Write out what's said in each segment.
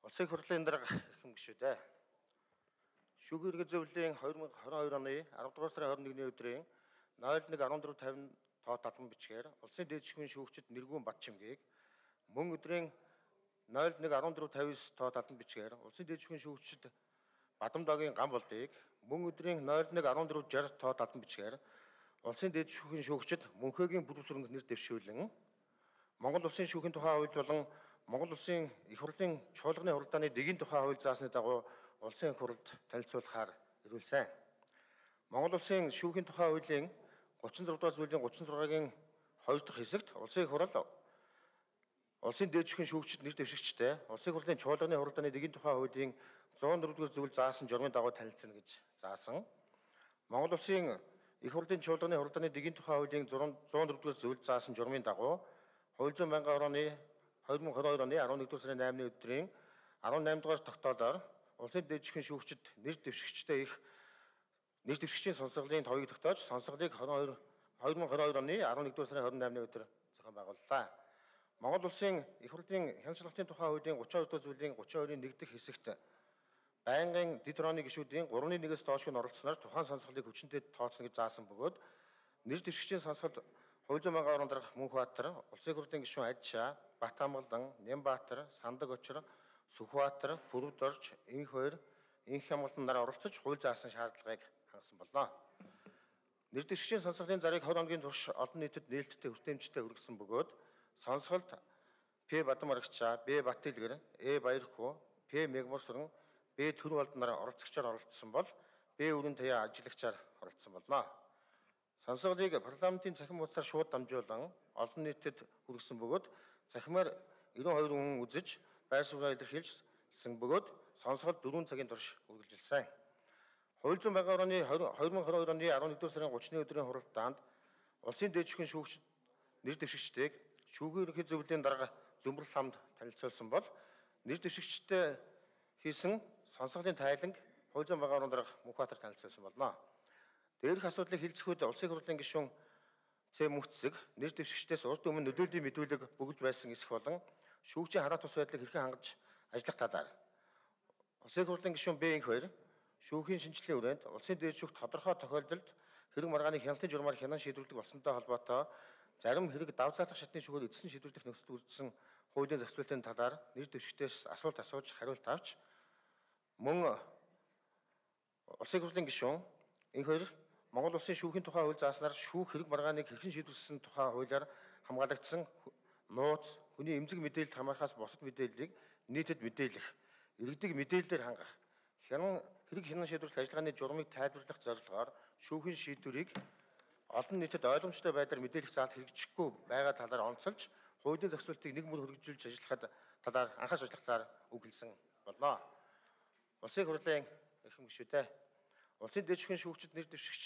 Улсын их хурлын дарга эрхэм гишүүдээ. Шүүхийн эрхээ зөвлөлийн 2022 оны 10 дугаар сарын 21-ний өдрийн 01:14:50 тоо татан бичгээр улсын дээд шүүхийн шүүгчид Нэргүүн Батчимгийг мөн өдрийн 01:14:59 тоо татан бичгээр улсын дээд шүүхийн шүүгчид Бадамдаагийн Гамболдыг мөн өдрийн 01:14:60 тоо татан бичгээр улсын дээд шүүхийн шүүгчид Мөнхөөгийн Бүрүүсрэнг нэр дэвшүүлэн Монгол улсын шүүхийн тухай хууль болон Монгол улсын их хурлын чуулганы хуралдааны дэгийн тухай хууль заасны дагуу улсын их хурлд танилцуулахаар ирүүлсэн. Монгол улсын шүүхийн тухай хуулийн 36 дугаар зүйлийн 36-гийн 2 дахь хэсэгт улсын их хурал улсын дээд шүүхийн шүүгчид нэр дэвшигчтэй улсын их хурлын чуулганы хуралдааны дэгийн тухай хуулийн 104 дугаар зүйл заасан журмын дагуу танилцна гэж заасан. Монгол улсын их хурлын чуулганы хуралдааны дэгийн тухай хуулийн 104 дугаар зүйл заасан журмын дагуу Хууль зүйн байнгын орооны 2022 оны 11 сарын 8-ны өдрийн 18 дугаар тогтоолоор улсын дээд шүүхийн шүүгчид нэр дэвшигчийн сонсголын товыг тогтоож сонсголыг 2022 оны 11 сарын 28-ны өдөр зохион байгууллаа. Монгол улсын их хурлын хяналтын тухай хуулийн 32 дугаар зүйлийн 32-ийн 1 дэх хэсэгт байнгын дэд хорооны гишүүдийн 3-1-ээс доошг нь оролцсноор тухайн сонсголыг хүчинтэй тооцно гэж заасан бөгөөд нэр дэвшигчийн сонсголд Хууль зүйн байнгын орон дарга Мөнхбаатар, улсын их хурлын гишүүн Ажшаа, Батамгалдан, Нямбаатар, Сандаг Очир, Сүхбаатар, Бүрүдорж, Инх хоёр, Инх Хямгалдан нар оролцож хууль заасан шаардлагыг хангасан болно. Нэр дэвшигчийн сонсголын зарыг 20 хоногийн турш олон нийтэд нээлттэй хүртээмжтэй хүргэсэн бөгөөд сонсголд П. Бадамарагчаа, Б. Батилгэр, Э. Баярхүү, П. Мегморсрон, Б. Төрвалдан нар оролцогчоор оролцсон бол Б. Өрийн Таяа ажиллагчаар оролцсон болно. Сонсголыг парламентын цахим хуудасаар шууд дамжуулан олон нийтэд хүргэсэн бөгөөд цахимаар 92 хүн үзэж байр сууриа илэрхийлсэн бөгөөд сонсгол 4 цагийн турш үргэлжилсэн. Хууль зүйн байнгын орооны 2022 оны 11 сарын 30-ны өдрийн хуралдаанд улсын дээд шүүхийн шүүгчид нэр дэвшигчдийг шүүхийн ерөнхий зөвлөлийн дарга Зөмбөрл хамт танилцуулсан бол нэр дэвшигчтэй хийсэн сонсголын тайланг Хууль зүйн байнгын орон дарга Мөнхбаатар танилцуулсан болно. Дээрх асуудлыг хэлцэхэд улсын их хурлын гишүүн Ц. Мөхцөг нэр дэвшигчдээс урд өмнө нөлөөллийн мэдүүлэг бөгж байсан эсэх болон шүүгчийн хараат ус байдлыг хэрхэн хангаж ажиллах талаар улсын их хурлын гишүүн Б. Инх хоёр шүүхийн шинжилгээний хүрээнд улсын дээд шүүгт тодорхой тохиолдолд хэрэг маргааны хяналтын журмаар хянан шийдвэрлэх болсонтой холбоотой зарим хэрэг давцаалах шатны шүүгээр эцэслэн шийдвэрлэх нөхцөл үүссэн хуулийн зохицуулалтын талаар нэр дэвшигчдээс асуулт асууж хариулт авч мөн улсын их хурлын гишүүн Инх хоёр Монгол улсын шүүхийн тухай хууль зааснаар шүүх хэрэг маргааныг хэрхэн шийдвэрлсэн тухай хуулиар хамгаалагдсан нууц, хүний эмзэг мэдээлэлд хамаарахаас бусад мэдээллийг нийтэд мэдээлэх, иргэдэг мэдээлэлээр хангах, хэрэг хянан шийдвэрлэх ажиллагааны журмыг тайлбарлах зорилгоор шүүхийн шийдвэрийг олон нийтэд ойлгомжтой байдлаар мэдээлэх заалт хэрэгжихгүй байгаа талаар онцолж, хуулийн зохицуултыг нэг мөр хөгжүүлж ажиллахад талаар анхаарч ажиллах талаар үг хэлсэн болно. Улсын их хурлын эрхэм гишүүдээ улсын дээд шүүхийн шүүгчид нэр дэвшигч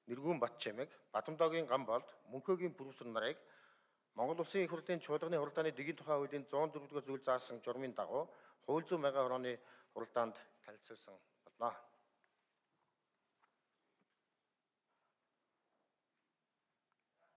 Нэргүүн Батчимыг Бадамдаагийн Гамболд Мөнхөөгийн Бүрүүсрэн нарыг Монгол улсын их хурлын чуулганы хуралдааны дэгийн тухай хуулийн 104 дугаар зүйл заасан журмын дагуу Хууль зүйн байнгын орооны хуралдаанд танилцуулсан болно.